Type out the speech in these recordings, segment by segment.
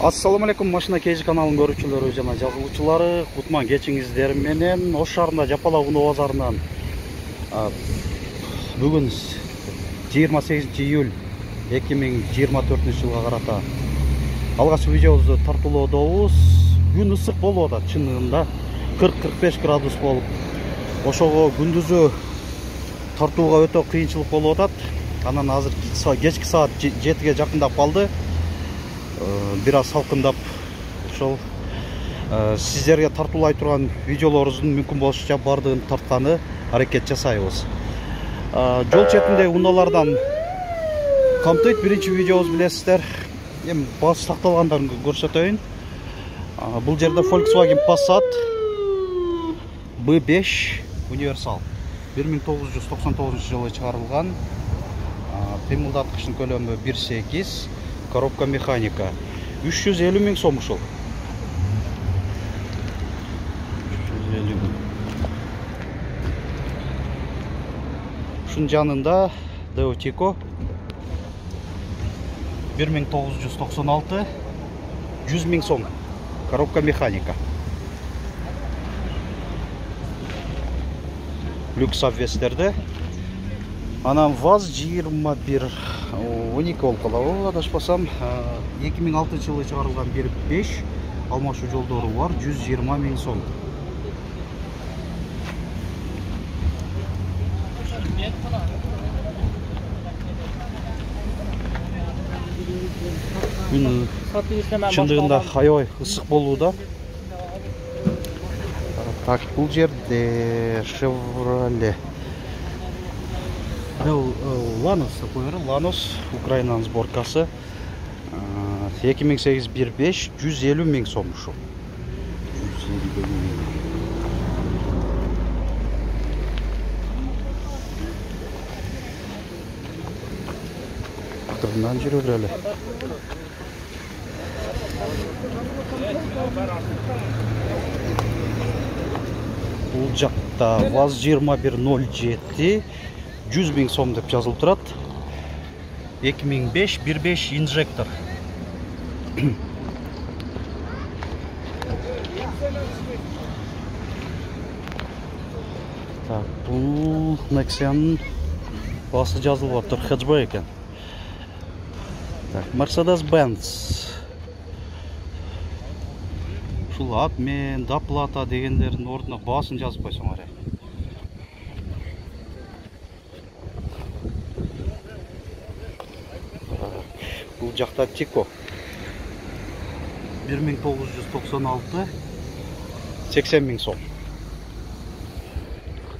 Assalamu alaikum, машина KG каналынын көрүүчүлөрү жана жазылуучулары. Кутман кечиңиздер менен Ош шаарында Жапалак уноо базарынан бүгүн 28 июль 2024 жылга карата алгачкы видеобузду тартуулоодобуз. Күн ысык болуп атат, чынында 40-45 градус болуп. Ошого күндүзү тартууга өтө кыйынчылык болуп атат. Анан азыр кечки саат 7ге жакындап калды. Бир аз салкындап, ошол сиздерге тартуулай турган видеолорубуздун мүмкүн болушунча бардыгын тартканы аракет жасайбыз. Жол четинде унаалардан камтыйт. Биринчи видеобуз билесиздер. Эми баасы такталгандарын көрсөтөйүн. Бул жерде Volkswagen Passat B5 универсал 1999 жылы чыгарылган. Кыймылдаткычтын көлөмү 1.8, коробка механика. 350 миң сом ушул. 350 миң. Ушунун жанында Deutico 1996, 100 миң сом. Коробка механика. Люкс обвестерде. Анан ВАЗ 21 12 болуп калабы, адашпасам. 2006 жылы чыгарылган 1.5 алмашуу жолдору бар, 120 миң сом. Күн чындыгында аябай ысык болууда. Так, бул жерде Chevrolet Lanos такой, Lanos, Украинанын сборкасы. 2008 1.5, 150 миң сом ушул. 150 миң. Кырынан жүрө берели. Бул жакта ВАЗ 2107 100 миң сом деп жазылып турат. 2005 1.5 инжектор. Так, бул Nexia'нын баасы жазылып атыр, хэтчбэк экен. Так, Mercedes-Benz. Ушул обмен, доплата дегендердин ордуна баасын жазып койсоңор. Бул жакта Tico 1996, 80 миң сом.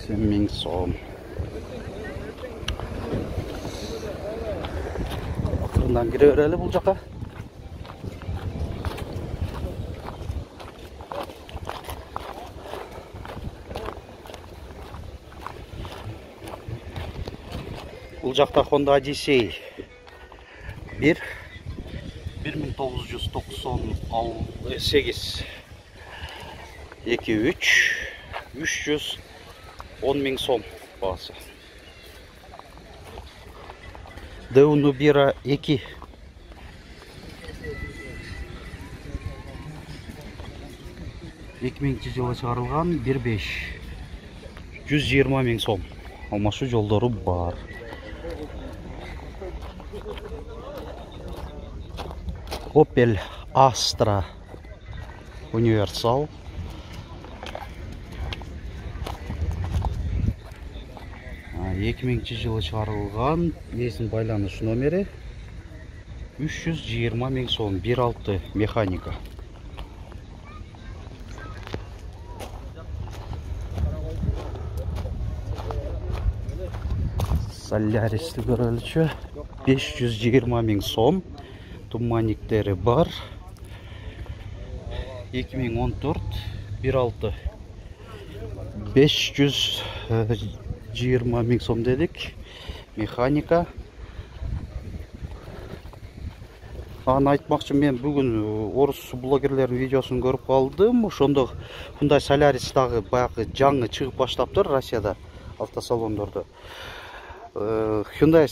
80 миң сом. Акырындан кире берели бул жака. Бул жакта Honda Odyssey 1998 2.3 310 миң сом баасы. Deunubira 2 2000 жылы чыгарылган 1.5 120 миң сом. Алмашуу жолдору бар. Opel Astra универсал 2000 жылы чыгарылган, эсин байланыш номери 320 миң сом, 1.6 механика. Solaris'ti көрөлүчү 520 миң сом. Туманниктери бар. 2014 1.6 520 миң сом дедик. Механика. Аны айтмакчы, мен бүгүн орус блогерлердин видеосун көрүп калдым. Ошондо мындай Solaris дагы баягы жаңы чыгып баштаптыр Россияда автосалондордо. Hyundai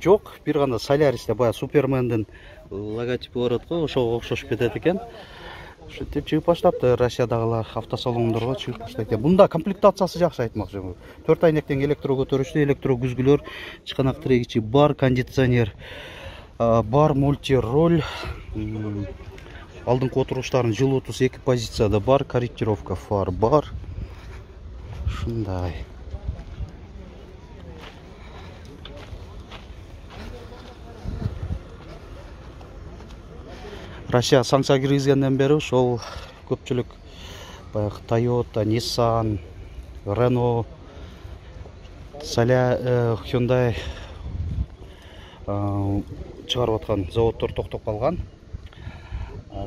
жок, бир гана Solaris'те баягы Супермендин логотипи бар го, ошого окшош кетет экен. Ушинтип чыгып баштапты Россиядагылар автосалондорго чыгып баштайт экен. Бунда комплектациясы жакшы айтмакчымын. 4 айнектен электро көтөрүштүү, электро күзгүлөр, чыканак тирегичи бар, кондиционер бар, мульти-роль, алдыңкы отуруштардын жылуутусу 2 позицияда бар, корректировка фар бар. Ушундай. Россия санкция киргизгенден бери ошол көпчүлүк баягы Toyota, Nissan, Renault, Hyundai чыгарып аткан заводдор токтоп калган.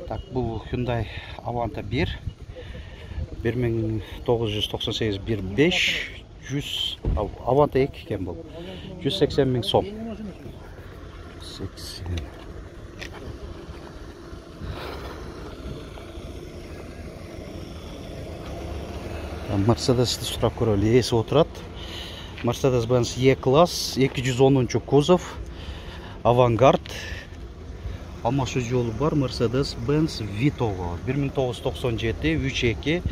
Так, бул Hyundai Avanta 1 1998 1.5 100 Avanta 2 экен бул. 180 миң сом. 80. Mercedes'ti сурап көрөлү, эси отурат. Mercedes-Benz E-класс, 210 кузов, Авангард. Алмашуу жолу бар, Mercedes-Benz Vito 1997 3.2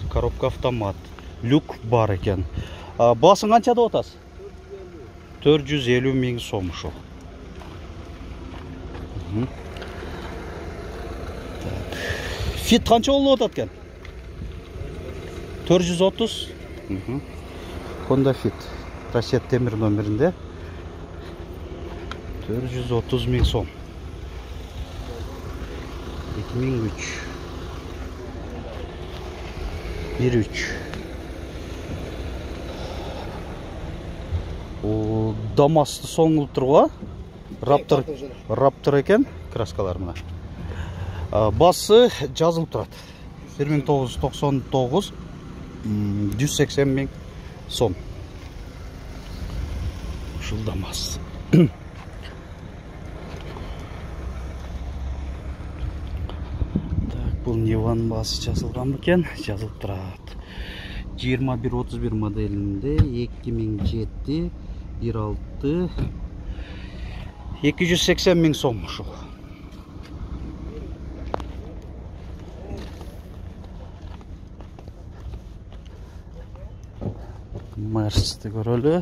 коробка автомат. Люк бар экен. Баасын канча деп атасыз? 450 миң сом ушул. Fit канча болуп атат экен? 430. Honda Fit. Россия темир номеринде. 430 миң сом. 2003. 1.3. O Damas'ты соңулуп турган. Raptor экен, краскалар мына. Басы жазылып турат. 1999 180 миң сом. Ушул Damas. Бул Ниван басы жазылган бекен, жазылып турат. 2131 моделинде 2007 1.6 280 миң сом ушул. Mercedes'ти көрөлү.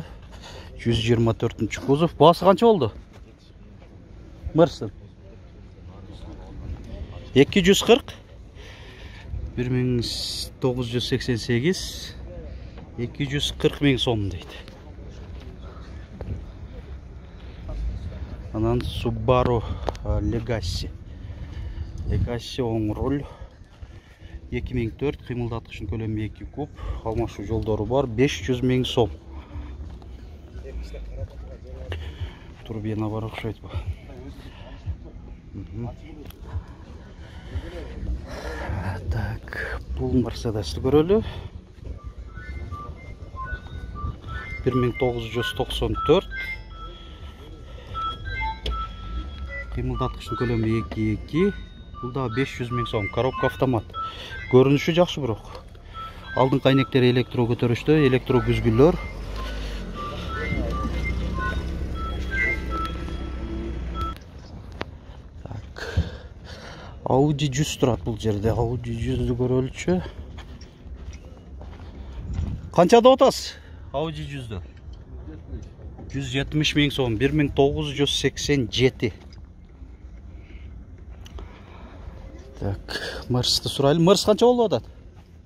124 кузов. Басы канча болду? Mercedes 240 1988 240 миң сом дейт. Анан Subaru Legacy оң руль 2004 кыймылдаткычын көлөмү 2 куб, алмашуу жолдору бар, 500 миң сом. Турбина бар окшойт бу. Так, бул Mercedes'ти көрөлү. 1994 кыймылдаткычын көлөмү 2.2, бул да 500 миң сом, коробка автомат. Көрүнүшү жакшы бирок. Алдыңкы айнектери электро көтөрүштө, электро күзгүлөр. Так. Audi 100 турат бул жерде. Audi 100'ду көрөлүчү. Канча деп атасыз? Audi 100'дү. 170 миң сом, 1987. Так, Mercedes'ти сурайлы. Mercedes канча болуп атат?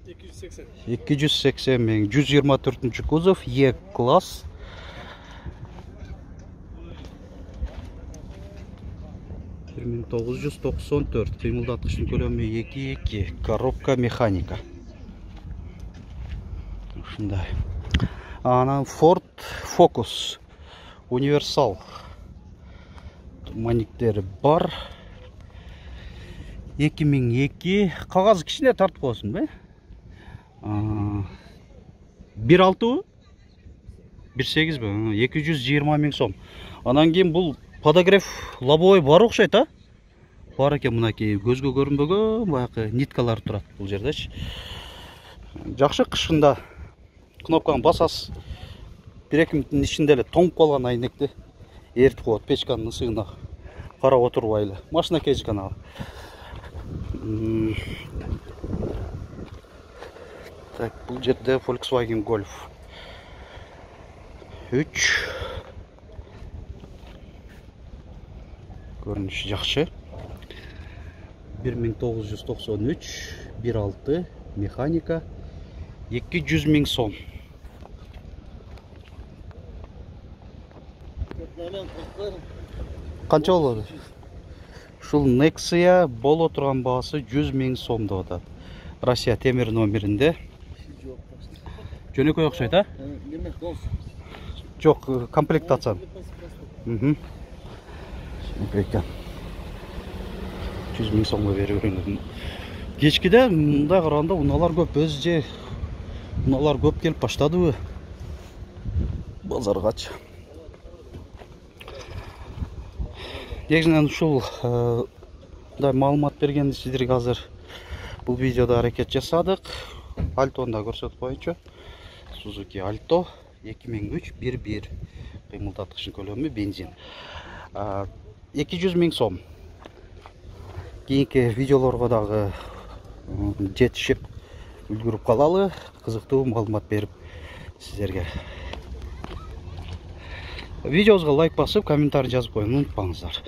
280. 280 миң, 124 кузов, E-класс. — 1994, кыймылдаткычтын көлөмү 2.2, коробка механика. Ушундай. Анан Ford Focus универсал. Маниктери бар. 2002, кагазы кичине тартып коесуң бе? 1.6 1.8 бе? 220 миң сом. Анан кийин бул подогрев лобовой бар окшойт, а? Бар экен, мынакей көзгө көрүнбөгөн баягы ниткалар турат бул жердечи. Жакшы, кышында кнопканы басасыз, 1-2 мүнөттүн ичинде эле тоңуп калган айнекти эритип коет печканын ысыгына карап отурбай эле. Машина кечкана. Так, бул жерде Volkswagen Golf 3. Көрүнүшү жакшы. 1993 1.6 механика 200 000 сом. Канча болот? Ушул Nexia боло турган баасы 100 000 сом деп атат. Россия темир номеринде. Жөнөкөй окшойт, а? Жок, комплектация. 100 000 сомго берип берген. Кечкиде мындай караганда унаалар көп, өз же унаалар көп келип баштадыбы базаргачы. Негизинен ушул мындай маалымат бергенди сиздерге азыр бул видеодо аракет жасадык. Альтону да көрсөтүп коеюнчу. Suzuki Alto 2003 1.1 кыймылдаткычын көлөмү бензин. 200 000 сом. Кийинки видеолорго дагы жетишип үлгүрүп калалы, кызыктуу маалымат берип сиздерге. Видеобузга лайк басып, комментарий жазып коюуну унутпаңыздар.